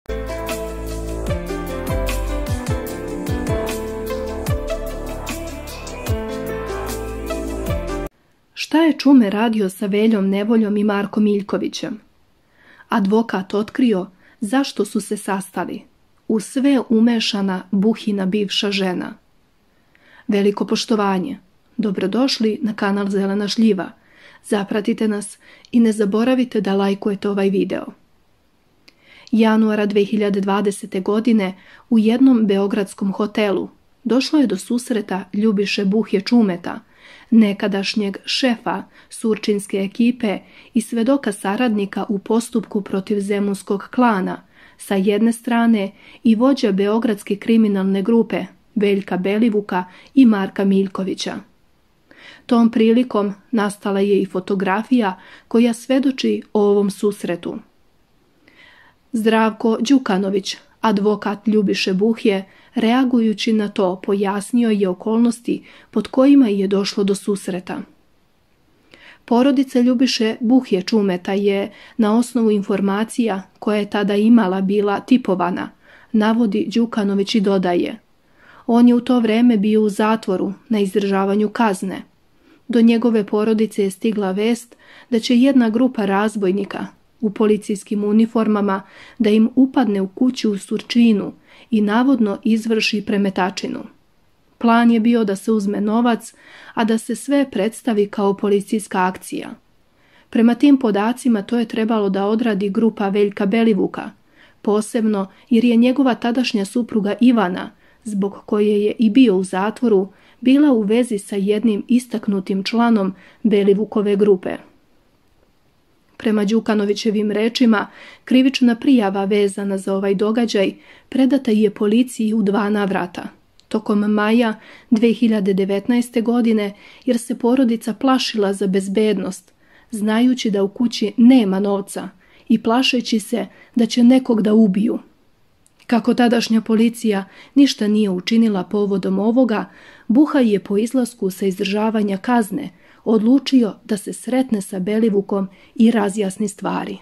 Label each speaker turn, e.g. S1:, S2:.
S1: Šta je Čume radio sa Veljom Nevoljom i Markom Miljkovićem? Advokat otkrio zašto su se sastali. U sve umešana Buhina bivša žena. Veliko poštovanje. Dobrodošli na kanal Zelena šljiva. Zapratite nas i ne zaboravite da lajkujete ovaj video. Januara 2020. godine u jednom beogradskom hotelu došlo je do susreta Ljubiše Buhje Čumeta, nekadašnjeg šefa surčinske ekipe i svedoka saradnika u postupku protiv zemunskog klana, sa jedne strane i vođa beogradske kriminalne grupe Veljka Belivuka i Marka Miljkovića. Tom prilikom nastala je i fotografija koja svedoči o ovom susretu. Zdravko Đukanović, advokat Ljubiše Buhje, reagujući na to, pojasnio je okolnosti pod kojima je došlo do susreta. Porodica Ljubiše Buhje Čumeta je, na osnovu informacija koje je tada imala, bila tipovana, navodi Đukanović i dodaje. On je u to vreme bio u zatvoru na izdržavanju kazne. Do njegove porodice je stigla vest da će jedna grupa razbojnika u policijskim uniformama da im upadne u kuću u Surčinu i navodno izvrši premetačinu. Plan je bio da se uzme novac, a da se sve predstavi kao policijska akcija. Prema tim podacima to je trebalo da odradi grupa Veljka Belivuka, posebno jer je njegova tadašnja supruga Ivana, zbog koje je i bio u zatvoru, bila u vezi sa jednim istaknutim članom Belivukove grupe. Prema Đukanovićevim rečima, krivična prijava vezana za ovaj događaj predata je policiji u 2 navrata. Tokom maja 2019. godine, jer se porodica plašila za bezbednost, znajući da u kući nema novca i plašeći se da će nekog da ubiju. Kako tadašnja policija ništa nije učinila povodom ovoga, Buha je po izlasku sa izdržavanja kazne odlučio da se sretne sa Belivukom i razjasni stvari.